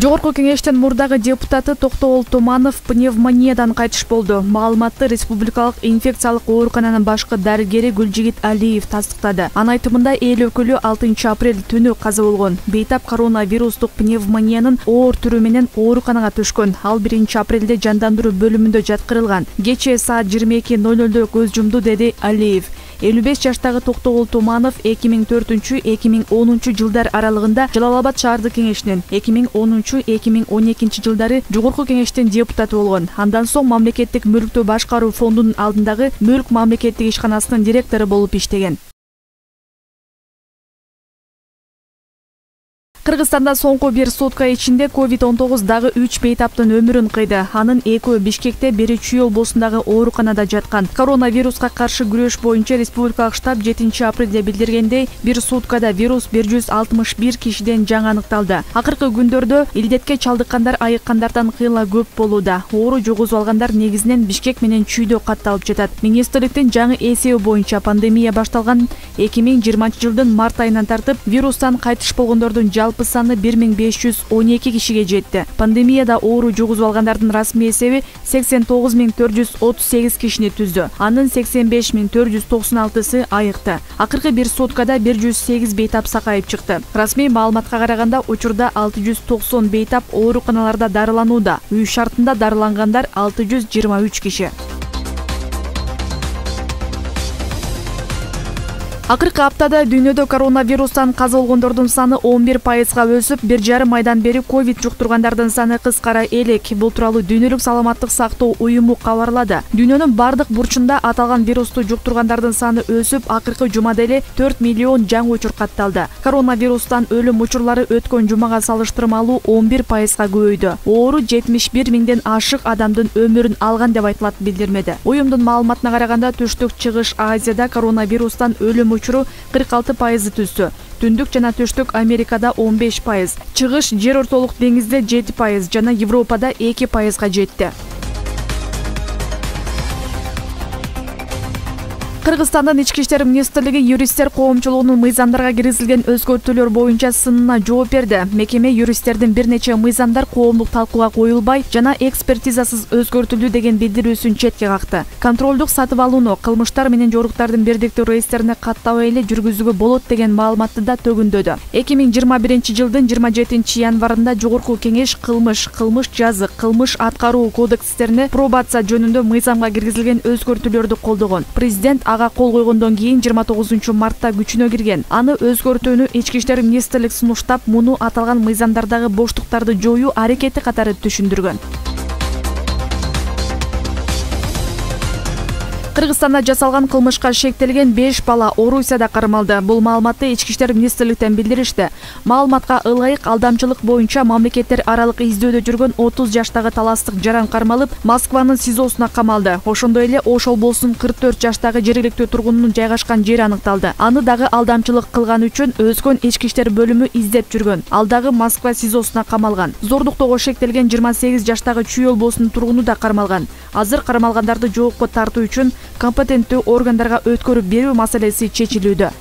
Жогорку кеңештин мурдагы депутаты Токтогул Томанов пневмониядан кайтыш болду. Маалыматты Республикалык инфекциялык оорукананын башкы дарыгери Гүлжигит Алиев тастыктады. Анын айтымында эл өкүлү 6 апрель түнү каза болгон. Бейтап коронавирустук пневмониянын оор түрү менен ооруканага түшкөн. Ал 1 апрелде жандандыруу бөлүмүндө жаткырылган. Кечээ саат 22:00 көз жумду, деди Алиев. 55 жаштагы Токтогул Томанов 2004-2010 жылдар аралыгында Жалал Абад шаардык кеңешинин, 2010-2012 жылдары Жогорку кеңештин депутаты болгон. Андан соң мамлекеттик мүлктү башкаруу фондунун алдындагы Мүлк мамлекеттик ишканасынын директору болуп иштеген. Кыргызстанда соңку бир сутка ичинде COVID-19 дагы 3 бейтаптын өмүрүн кыйды. Анын 2-өө Бишкекте, бири Чүй облусундагы ооруканада жаткан. Коронавируска каршы күрөш боюнча республикалык штаб 7 апрелде билдиргендей, бир суткада вирус 161 кишиден жаңы аныкталды. Акыркы күндөрдө илдетке чалдыккандар айыккандардан кыйла көп болууда. Оору жугузуп алгандар негизинен Бишкек менен Чүйдө катталып жатат. Министрликтин жаңы эсеби боюнча пандемия башталган 2020 жылдын март айынан тартып вирустан кайтыш болгондордун жалпы саны 1512 кишиге жетти. Пандемияда оору жугузуп алгандардын расмий эсеби 89438 кишини түздү. Анын 85496сы айыкты. Акыркы бир суткада 108 бейтап сакайып чыкты. Расмий маалыматка караганда учурда 690 бейтап ооруканаларда дарыланууда. Үй шартында дарылангандар 623 киши. Акыркы аптада дүйнөдө коронавирустан каза болгондордун саны 11%га өсүп, 1,5 айдан бери ковид жуктургандардын саны кыскара элек. Бул тууралуу Дүйнөлүк саламаттык сактоо уюму кабарлады. Дүйнөнүн бардык бурчунда аталган вирусту жуктургандардын саны өсүп, акыркы жумада эле 4 миллион жаңы учур катталды. Коронавирустан өлүм учурлары өткөн жумага салыштырмалуу 11%га көбөйдү. Оору 71 миңден ашык адамдын өмүрүн алган деп айтылат билдирмеде. Уюмдун маалыматына караганда Түштүк Чыгыш Азияда коронавирустан өлүм учуру 46% түздү. Түндүк жана Түштүк Америкада 15%, Чыгыш Жер ортолук деңизде 7% жана Европада 2%га жетти. Кыргызстандын Ички иштер министрлиги юристтер коомчулугунун мыйзамдарга киргизилген өзгөртүүлөр боюнча сынына жооп берди. Мекеме юристтердин бир нече мыйзамдар коомдук талкууга коюлбай жана экспертизасыз өзгөртүлдү деген билдирүүсүн четке какты. Контролдук сатып алууну кылмыштар менен жоруктардын бирдиктүү реестрине каттабай эле жүргүзүүгө болот деген маалыматты да төгүндөдү. 2021 жылдын 27 январында Жогорку кеңеш кылмыш жазык, кылмыш аткаруу кодекстерине пробация жөнүндө мыйзамга киргизилген өзгөртүүлөрдү колдогон. Президент ага кол койгондон кийин 29 мартта күчүнө кирген. Аны өзгөртүүнү Ички иштер министрлик сунуштап, муну аталган мыйзамдардагы боштуктарды жоюу аракети катары түшүндүргөн. Кыргызстанда жасалган кылмышка шектелген 5 бала Орусияда кармалды. Бул маалыматты Ички иштер министрликтен билдиришти. Маалыматка ылайык алдамчылык боюнча мамлекеттер аралык издөөдө жүргөн 30 жаштагы таластык жаран кармалып, Москванын СИЗОсуна камалды. Ошондой эле Ош облусунун 44 жаштагы жергиликтүү тургунунун жайгашкан жери аныкталды. Аны дагы алдамчылык кылган үчүн өзгөн ички иштер бөлүмү издеп жүргөн. Ал дагы Москва СИЗОсуна камалган. Зордуктоого шектелген 28 жаштагы Чүй облусунун тургуну да кармалган. Азыр кармалгандарды жоопко тартуу үчүн компетенттүү органдарга өткөрүп берүү маселеси чечилүүдө.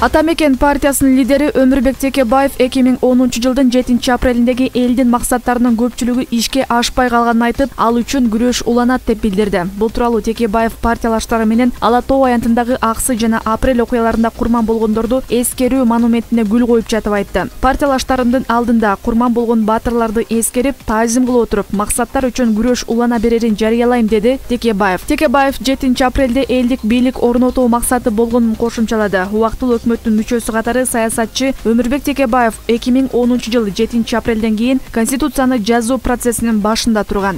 Атамекен партиясынын лидери Өмүрбек Текебаев 2010 жылдын 7 апрелиндеги элдин максаттарынын көпчүлүгү ишке ашпай калганын айтып, ал үчүн күрөш уланат деп билдирди. Бул тууралуу Текебаев партиялаштары менен Ала Тоо аянтындагы Аксы жана Апрель окуяларында курман болгондорду эскерүү монументине гүл коюп жатып айтты. Партиялаштарымдын алдында курман болгон баатырларды эскерип, таазим кылып отуруп, максаттар үчүн күрөш улана берерин жарыялайм, деди Текебаев. Текебаев 7 апрелде элдик бийлик орнотуу максаты болгонун кошумчалады. Убактылуу өкмөттүн мүчөсү катары саясатчы Өмүрбек Текебаев 2010 жылы 7 апрелден кийин Конституцияны жазуу процессинин башында турган.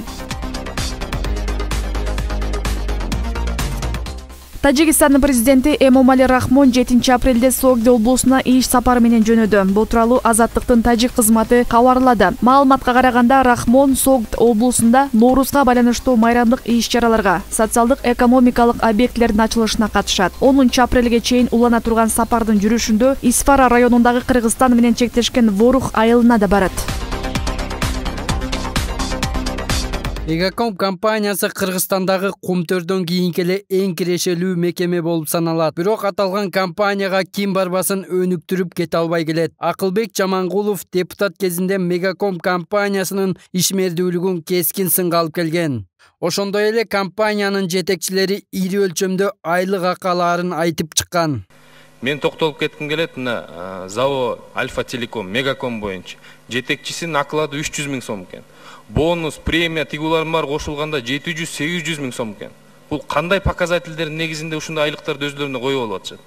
Тажикстандын президенти Эмомали Рахмон 7 апрелде Согди облусуна иш сапары менен жөнөдү. Бул тууралуу Азаттыктын тажик кызматы кабарлады. Маалыматка караганда Рахмон Согд облусунда Ноорузга байланыштуу майрамдык иш-чараларга, социалдык экономикалык объектилердин ачылышына катышат. 10 апрелге чейин улана турган сапардын жүрүшүндө Исфара районундагы Кыргызстан менен чектешкен Ворух айылына да барат. Мегаком компаниясы Кыргызстандагы Кумтөрдөн кийинки эле эң кирешелүү мекеме болуп саналат. Бирок аталган компанияга ким барбасын өнүктүрүп кете албай келет. Акылбек Жамангулов депутат кезинде Мегаком компаниясынын ишмердүүлүгүн кескин сынга алып келген. Ошондой эле компаниянын жетекчилери ири өлчөмдө айлык акаларын айтып чыккан. Мен токтолуп кетким келет, мына ЗАО Альфа Телеком Мегаком боюнча жетекчисинин оклады 300 000 сом экен. Бонус, премия, тигулар бар кошулганда 700-800 000 сом экен. Бул кандай показательдердин негизинде ушундай айлыктарды өздөрүнө коюп алып атышат?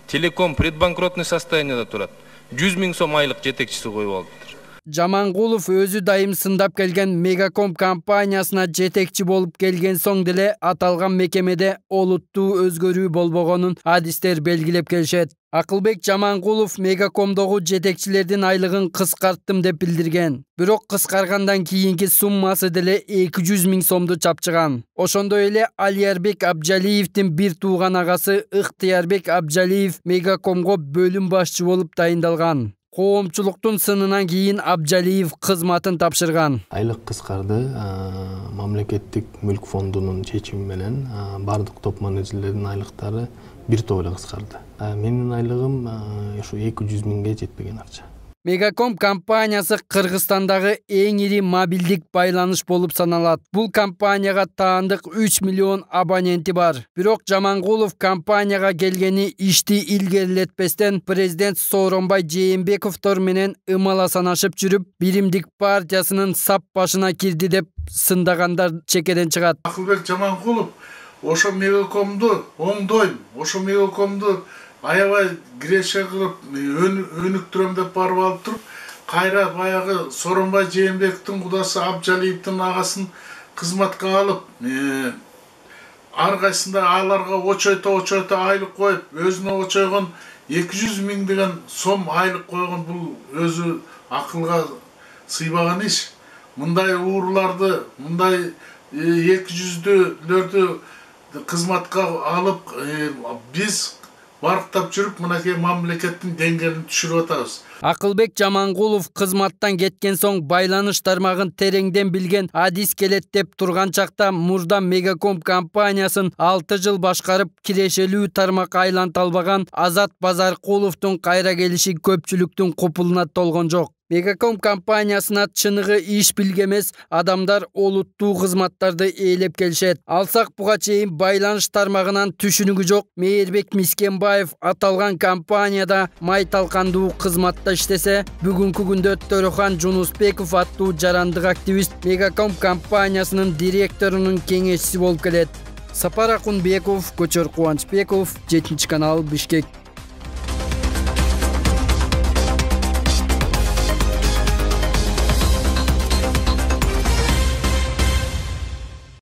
Телеком предбанкротный состоянияда турат. 100 000 сом айлык жетекчиси коюп алыптыр. Жамангулов өзү дайым сындап келген Мегаком компаниясына жетекчи болуп келген соң деле аталган мекемеде олуттуу өзгөрүү болбогонун адистер белгилеп келишет. Акылбек Жамангулов Мегакомдогу жетекчилердин айлыгын кыскарттым деп билдирген. Бирок кыскаргандан кийинки суммасы деле 200 000 сомду чапчыган. Ошондой эле Алиярбек Абжалиевдин бир тууган агасы Ыктыярбек Абжалиев Мегакомго бөлүм башчы болуп дайындалган. Коомчулуктун сынынан кийин Абжалиев кызматын тапшырган. Айлык кыскарды мамлекеттик мүлк фондунун чечими менен бардык топ менеджерлердин айлыктары бир топ эле кыскарды. Менин айлыгым ушу 200 000ге жетпеген акча. Мегаком компаниясы Кыргызстандагы эң ири мобилдик байланыш болуп саналат. Бул компанияга таандык 3 миллион абоненти бар. Бирок Жамангулов компанияга келгени ишти илгерилетпестен президент Сооронбай Жээнбековдор менен ымала санашып жүрүп, Биримдик партиясынын сап башына кирди деп сындагандар чекеден чыгат. Акылбек Жамангулов ошо Мегакомду оңдойм, ошо Мегакомду аябай киреше кылып өнүктүрөм деп барып алып туруп, кайра баягы Сооронбай Жээнбековдун кудасы Абжалиевдин агасын кызматка алып, ар кайсында аларга очойто айлык коюп, өзүнө очойгон 200 000 деген сом айлык койгон. Бул өзү акылга сыйбаган иш. Мындай ууруларды, мындай 200-лөрдү кызматка алып, биз барктап жүрүп, мынакей мамлекеттин деңгээлин түшүрүп атабыз. Акылбек Жамангулов кызматтан кеткен соң байланыш тармагын тереңден билген адис келет деп турган чакта мурда Мегаком компаниясын 6 жыл башкарып кирешелүү тармакка айланта албаган Азат Базаркуловдун кайра келиши көпчүлүктүн купулуна толгон жок. Мегаком компаниясына чыныгы иш билгемес адамдар олуттуу кызматтарды ээлеп келишет. Алсак буга чейин байланыш тармагынан түшүнүгү жок Мээрбек Мискенбаев аталган компанияда май талкандуу кызматта иштесе, бүгүнкү күндө Төрөхан Жунусбеков аттуу жарандык активист Мегаком компаниясынын директорунун кеңешчиси болуп келет. Сапар Акунбеков, Көчөр Кубанычбеков, 7 канал, Бишкек.